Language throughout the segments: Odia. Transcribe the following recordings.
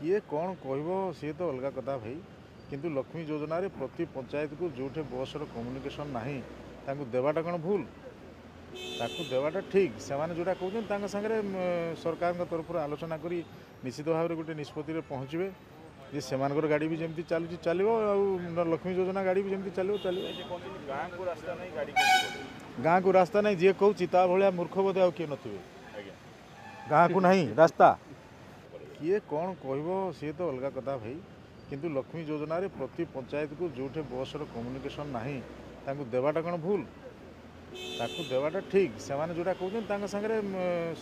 କିଏ କ'ଣ କହିବ ସିଏ ତ ଅଲଗା କଥା ଭାଇ, କିନ୍ତୁ ଲକ୍ଷ୍ମୀ ଯୋଜନାରେ ପ୍ରତି ପଞ୍ଚାୟତକୁ ଯେଉଁଠି ବସ୍ର କମ୍ୟୁନିକେସନ୍ ନାହିଁ ତାଙ୍କୁ ଦେବାଟା କ'ଣ ଭୁଲ? ତାକୁ ଦେବାଟା ଠିକ୍। ସେମାନେ ଯେଉଁଟା କହୁଛନ୍ତି ତାଙ୍କ ସାଙ୍ଗରେ ସରକାରଙ୍କ ତରଫରୁ ଆଲୋଚନା କରି ନିଶ୍ଚିତ ଭାବରେ ଗୋଟେ ନିଷ୍ପତ୍ତିରେ ପହଞ୍ଚିବେ ଯେ ସେମାନଙ୍କର ଗାଡ଼ି ବି ଯେମିତି ଚାଲୁଛି ଚାଲିବ, ଆଉ ଲକ୍ଷ୍ମୀ ଯୋଜନା ଗାଡ଼ି ବି ଯେମିତି ଚାଲିବ ଚାଲିବ। ଗାଁକୁ ରାସ୍ତା ନାହିଁ, ଗାଡ଼ି ଗାଁକୁ ରାସ୍ତା ନାହିଁ ଯିଏ କହୁଛି ତା ଭଳିଆ ମୂର୍ଖ ବୋଧେ ଆଉ କିଏ ନଥିବେ। ଗାଁକୁ ନାହିଁ ରାସ୍ତା, କିଏ କ'ଣ କହିବ ସିଏ ତ ଅଲଗା କଥା ଭାଇ, କିନ୍ତୁ ଲକ୍ଷ୍ମୀ ଯୋଜନାରେ ପ୍ରତି ପଞ୍ଚାୟତକୁ ଯେଉଁଠି ବସ୍ର କମ୍ୟୁନିକେସନ୍ ନାହିଁ ତାଙ୍କୁ ଦେବାଟା କ'ଣ ଭୁଲ? ତାକୁ ଦେବାଟା ଠିକ୍। ସେମାନେ ଯେଉଁଟା କହୁଛନ୍ତି ତାଙ୍କ ସାଙ୍ଗରେ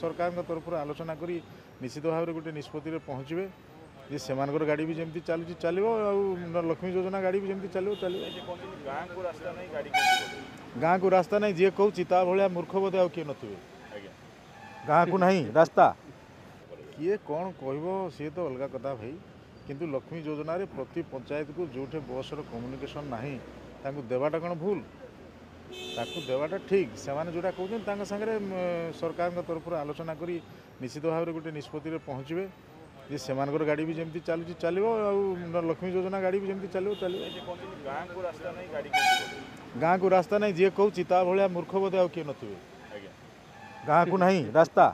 ସରକାରଙ୍କ ତରଫରୁ ଆଲୋଚନା କରି ନିଶ୍ଚିତ ଭାବରେ ଗୋଟେ ନିଷ୍ପତ୍ତିରେ ପହଞ୍ଚିବେ ଯେ ସେମାନଙ୍କର ଗାଡ଼ି ବି ଯେମିତି ଚାଲୁଛି ଚାଲିବ, ଆଉ ଲକ୍ଷ୍ମୀ ଯୋଜନା ଗାଡ଼ି ବି ଯେମିତି ଚାଲିବ ଚାଲିବ। ଗାଁକୁ ରାସ୍ତା ନାହିଁ, ଗାଡ଼ି ଗାଁକୁ ରାସ୍ତା ନାହିଁ ଯିଏ କହୁଛି ତା ଭଳିଆ ମୂର୍ଖ ବୋଧେ ଆଉ କିଏ ନଥିବେ। ଗାଁକୁ ନାହିଁ ରାସ୍ତା, କିଏ କ'ଣ କହିବ ସିଏ ତ ଅଲଗା କଥା ଭାଇ, କିନ୍ତୁ ଲକ୍ଷ୍ମୀ ଯୋଜନାରେ ପ୍ରତି ପଞ୍ଚାୟତକୁ ଯେଉଁଠି ବସ୍ର କମ୍ୟୁନିକେସନ୍ ନାହିଁ ତାଙ୍କୁ ଦେବାଟା କ'ଣ ଭୁଲ? ତାକୁ ଦେବାଟା ଠିକ୍। ସେମାନେ ଯେଉଁଟା କହୁଛନ୍ତି ତାଙ୍କ ସାଙ୍ଗରେ ସରକାରଙ୍କ ତରଫରୁ ଆଲୋଚନା କରି ନିଶ୍ଚିତ ଭାବରେ ଗୋଟେ ନିଷ୍ପତ୍ତିରେ ପହଞ୍ଚିବେ ଯେ ସେମାନଙ୍କର ଗାଡ଼ି ବି ଯେମିତି ଚାଲୁଛି ଚାଲିବ, ଆଉ ଲକ୍ଷ୍ମୀ ଯୋଜନା ଗାଡ଼ି ବି ଯେମିତି ଚାଲିବ ଚାଲିବ। ଗାଁକୁ ରାସ୍ତା ନାହିଁ, ଗାଡ଼ି ଗାଁକୁ ରାସ୍ତା ନାହିଁ ଯିଏ କହୁଛି ତା ଭଳିଆ ମୂର୍ଖ ବୋଧେ ଆଉ କିଏ ନଥିବେ। ଗାଁକୁ ନାହିଁ ରାସ୍ତା।